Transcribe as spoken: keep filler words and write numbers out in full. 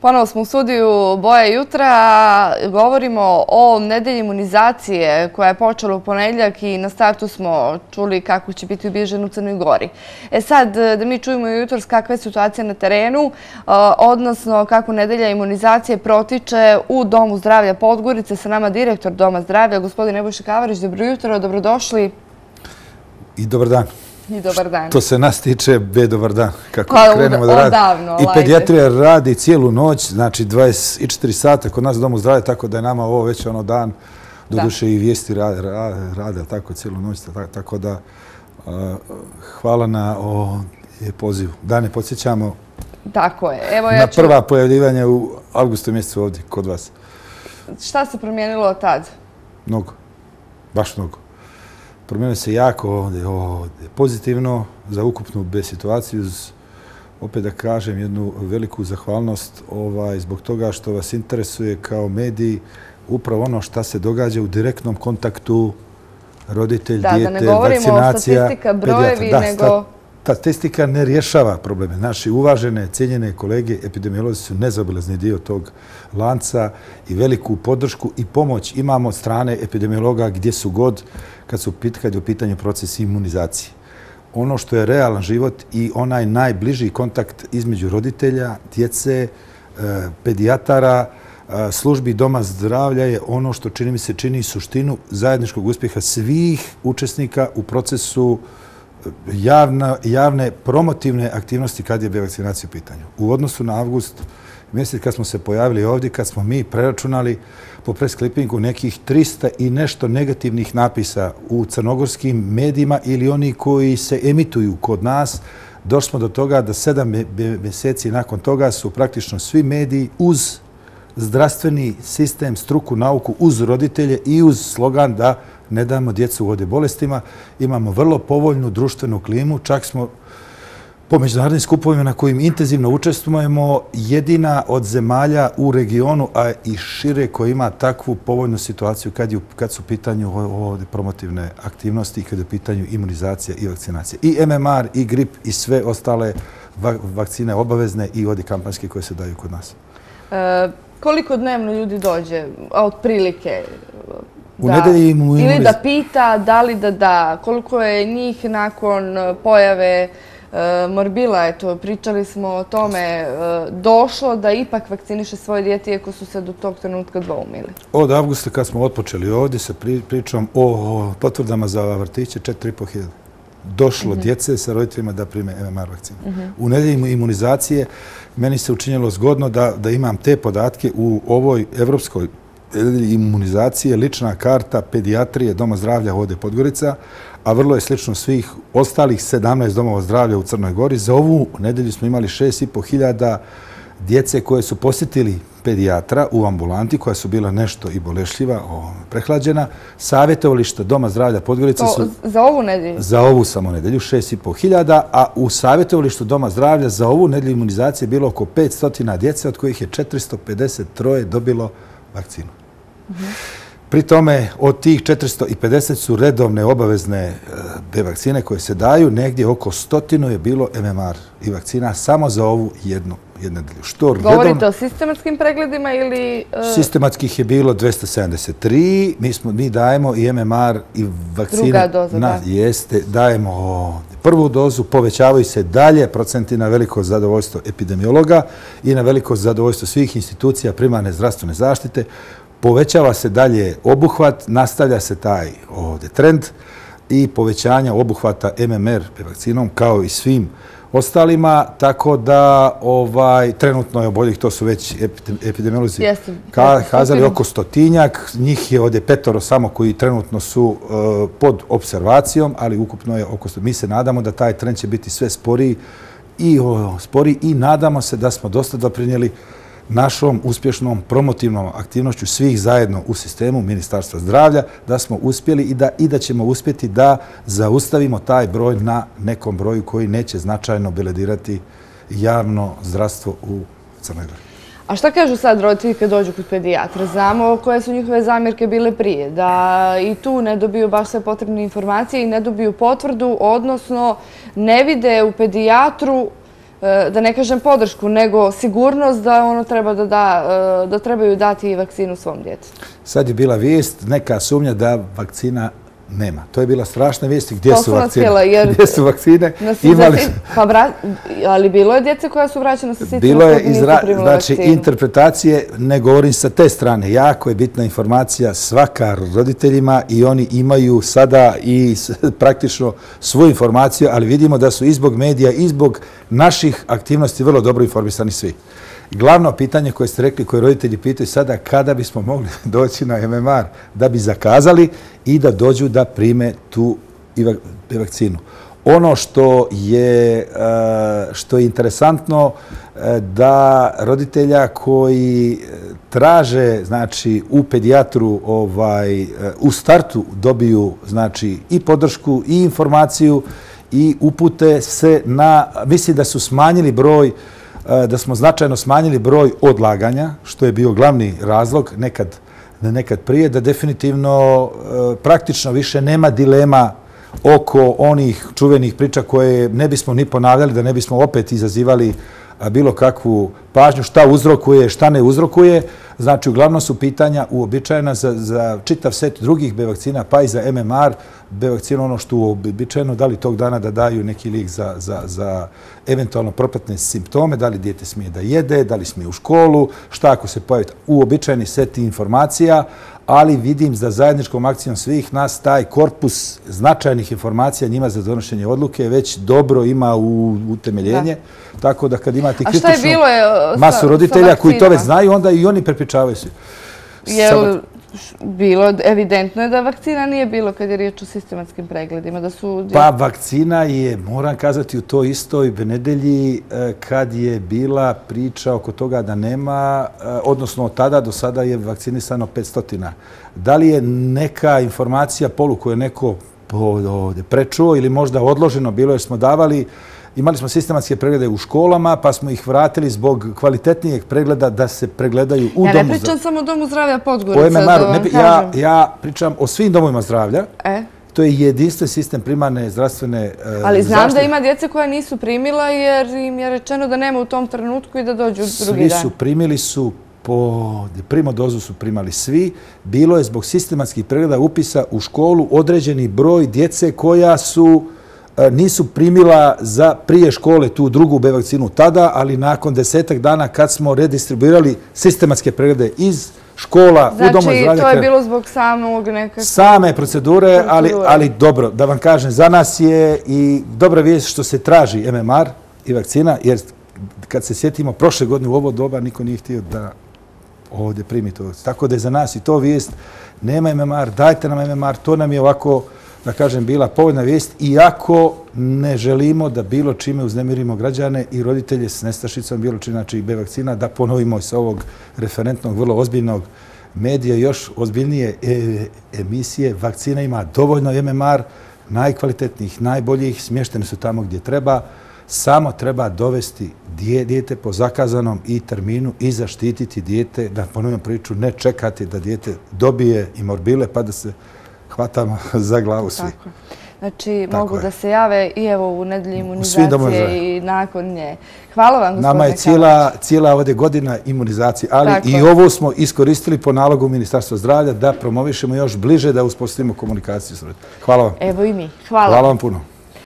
Ponovo smo u studiju Boja jutra. Govorimo o nedelji imunizacije koja je počela u ponedjeljak i na startu smo čuli kako će biti ubilježen u Crnoj Gori. E sad, da mi čujemo jutros kakva je situacija na terenu, odnosno kako nedelja imunizacije protiče u Domu zdravlja Podgorice. Sa nama direktor Doma zdravlja, gospodin Nebojša Kavarić. Dobro jutro, dobrodošli. I dobar dan. I dobar dan. To se nas tiče, be dobar dan. Kako krenemo da radimo. I pedijatrija radi cijelu noć, znači dvadeset četiri sata kod nas u Domu zdravlja, tako da je nama ovo već ono dan, doduše i vijesti rade tako cijelu noć, tako da hvala na pozivu. Da ne podsjećamo na prva pojavljivanja u avgustu mjesecu ovdje kod vas. Šta se promijenilo od tad? Mnogo, baš mnogo. Promijenilo se jako ovdje pozitivno za ukupnu B situaciju. Opet da kažem jednu veliku zahvalnost zbog toga što vas interesuje kao mediji upravo ono šta se događa u direktnom kontaktu roditelj, dijete, vakcinacija. Da, da ne govorimo o statistika, brojevi, nego... Ta statistika ne rješava probleme. Naši uvažene, cijenjene kolege epidemiolozi su nezaobilazni dio tog lanca i veliku podršku i pomoć imamo od strane epidemiologa gdje su god kad su kad je u pitanju proces imunizacije. Ono što je realan život i onaj najbliži kontakt između roditelja, djece, pedijatara, službi Doma zdravlja je ono što čini mi se čini suštinu zajedničkog uspjeha svih učesnika u procesu javne promotivne aktivnosti kad je vakcinacija u pitanju. U odnosu na avgust mjesec kad smo se pojavili ovdje, kad smo mi preračunali po presklipingu nekih trista i nešto negativnih napisa u crnogorskim medijima ili oni koji se emituju kod nas, došli smo do toga da sedam mjeseci nakon toga su praktično svi mediji uz zdravstveni sistem, struku, nauku, uz roditelje i uz slogan da ne damo djecu vode bolestima. Imamo vrlo povoljnu društvenu klimu, čak smo po međunarodnim skupovima na kojim intenzivno učestvujemo jedina od zemalja u regionu, a i šire koja ima takvu povoljnu situaciju kad su u pitanju ovdje promotivne aktivnosti i kad je u pitanju imunizacija i vakcinacija. I M M R, i grip i sve ostale vakcine obavezne i ovdje kampanjske koje se daju kod nas. Koliko dnevno ljudi dođe, otprilike? Ili da pita, da li da da, koliko je njih nakon pojave morbila, eto, pričali smo o tome, došlo da ipak vakciniše svoje dijete iako su se do tog trenutka dvoumili? Od avgusta kad smo otpočeli ovdje sa pričom o potvrdama za vrtiće, četiri i po hiljade. Došlo djece sa roditeljima da prime M M R vakcinu. U nedelji imunizacije meni se učinjelo zgodno da imam te podatke u ovoj evropskoj imunizacije, lična karta pedijatrije Doma zdravlja ovdje Podgorica, a vrlo je slično svih ostalih sedamnaest domova zdravlja u Crnoj Gori. Za ovu nedelju smo imali šest i po hiljada djece koje su posjetili pedijatra u ambulanti, koja su bila nešto i bolešljiva, prehlađena. Savjetovališta Doma zdravlja Podgorica su... Za ovu nedelju? Za ovu samo nedelju, šest i po hiljada, a u savjetovalištu Doma zdravlja za ovu nedelju imunizacije je bilo oko petsto djece, od kojih je četiristo pedeset tri dobilo vakcinu. Pri tome od tih četiristo pedeset su redovne obavezne B vakcine koje se daju, negdje oko stotinu je bilo M M R i vakcina samo za ovu jednu nedelju. Govorite o sistematskim pregledima ili... Sistematskih je bilo dvjesto sedamdeset tri, mi dajemo i M M R i vakcine. Druga doza, da. Jeste, dajemo prvu dozu, povećavaju se dalje procenti na veliko zadovoljstvo epidemiologa i na veliko zadovoljstvo svih institucija primarne zdravstvene zaštite. Povećava se dalje obuhvat, nastavlja se taj ovdje trend i povećanja obuhvata M M R vakcinom kao i svim ostalima, tako da trenutno je oboljih, to su već epidemiolozi kazali, oko stotinjak. Njih je ovdje petoro samo koji trenutno su pod observacijom, ali ukupno je oko sto. Mi se nadamo da taj trend će biti sve sporiji i sporiji i nadamo se da smo dosta doprinijeli našom uspješnom promotivnom aktivnošću svih zajedno u sistemu Ministarstva zdravlja, da smo uspjeli i da ćemo uspjeti da zaustavimo taj broj na nekom broju koji neće značajno beledirati javno zdravstvo u Crnoj Gori. A šta kažu sad roditelji kad dođu kod pedijatra? Znamo koje su njihove zamjerke bile prije, da i tu ne dobiju baš sve potrebne informacije i ne dobiju potvrdu, odnosno ne vide u pedijatru da ne kažem podršku, nego sigurnost da ono treba da da, da trebaju dati vakcinu svom djetetu. Sad je bila vijest, neka sumnja da vakcina nema. To je bila strašna vijest. Gdje su vakcine? Gdje su vakcine? Ali bilo je djece koja su vraćena sa sistema bilo je znači interpretacije, ne govorim sa te strane. Jako je bitna informacija svaka roditeljima i oni imaju sada i praktično svoju informaciju, ali vidimo da su i zbog medija i zbog naših aktivnosti vrlo dobro informisani svi. Glavno pitanje koje ste rekli, koje roditelji pitaju sada, kada bismo mogli doći na M M R da bi zakazali i da dođu da prime tu vakcinu. Ono što je, što je interesantno da roditelja koji traže, znači, u pedijatru ovaj, u startu dobiju, znači, i podršku i informaciju i upute se na, mislim da su smanjili broj da smo značajno smanjili broj odlaganja, što je bio glavni razlog nekad, nekad prije, da definitivno praktično više nema dilema oko onih čuvenih priča koje ne bismo ni ponavljali, da ne bismo opet izazivali bilo kakvu pažnju, šta uzrokuje, šta ne uzrokuje. Znači, uglavnom su pitanja uobičajena za, za čitav set drugih B vakcina, pa i za M M R. B vakcina ono što uobičajeno, da li tog dana da daju neki lijek za, za, za eventualno propratne simptome, da li dijete smije da jede, da li smije u školu, šta ako se pojavi uobičajeni set informacija, ali vidim da zajedničkom akcijom svih nas taj korpus značajnih informacija njima za donošenje odluke već dobro ima u utemeljenje. Da. Tako da kad imate kritičnu masu roditelja koji to već znaju, onda i oni prepričavaju se. Jel bilo, evidentno je da vakcina nije bilo kad je riječ o sistematskim pregledima? Da su... Pa vakcina je, moram kazati, u toj istoj nedelji kad je bila priča oko toga da nema, odnosno od tada do sada je vakcinisano petsto. Da li je neka informacija polu koju je neko ovdje prečuo ili možda odloženo bilo jer smo davali, imali smo sistematske preglede u školama, pa smo ih vratili zbog kvalitetnijeg pregleda da se pregledaju u domu zdravlja. Ja ne pričam samo o domu zdravlja Podgorica, da vam kažem. Ja, ja pričam o svim domovima zdravlja. E? To je jedinstven sistem primarne zdravstvene zaštite. Ali znam zaštite. Da ima djece koja nisu primila jer im je rečeno da nema u tom trenutku i da dođu drugi dan. Svi su primili su po primodozu su primali svi. Bilo je zbog sistematskih pregleda upisa u školu određeni broj djece koja su nisu primila za prije škole tu drugu B vakcinu tada, ali nakon desetak dana kad smo redistribuirali sistematske preglede iz škola znači, u domu zdravlja. Znači, to je bilo zbog samog nekakve... Same procedure, ali, ali dobro, da vam kažem, za nas je i dobra vijest što se traži M M R i vakcina, jer kad se sjetimo prošle godine u ovo doba, niko nije htio da ovdje primi to. Tako da je za nas i to vijest, nema M M R, dajte nam M M R, to nam je ovako, da kažem, bila povoljna vijest, iako ne želimo da bilo čime uznemirimo građane i roditelje s nestašicom, bilo čime, znači i B vakcina, da ponovimo s ovog referentnog, vrlo ozbiljnog medija, još ozbiljnije emisije. Vakcina ima dovoljno M M R, najkvalitetnijih, najboljih, smještene su tamo gdje treba, samo treba dovesti dijete po zakazanom i terminu i zaštititi dijete, da ponovim priču, ne čekati da dijete dobije i morbile pa da se hvatamo za glavu svi. Tako. Znači, Tako mogu je. Da se jave i evo u nedelji imunizacije i nakon nje. Hvala vam, gospodine Nama je cijela, cijela ovdje godina imunizacije, ali Tako. I ovo smo iskoristili po nalogu Ministarstva zdravlja da promovišemo još bliže, da uspostavimo komunikaciju s roditeljima. Hvala vam. Evo i mi. Hvala. Hvala vam puno.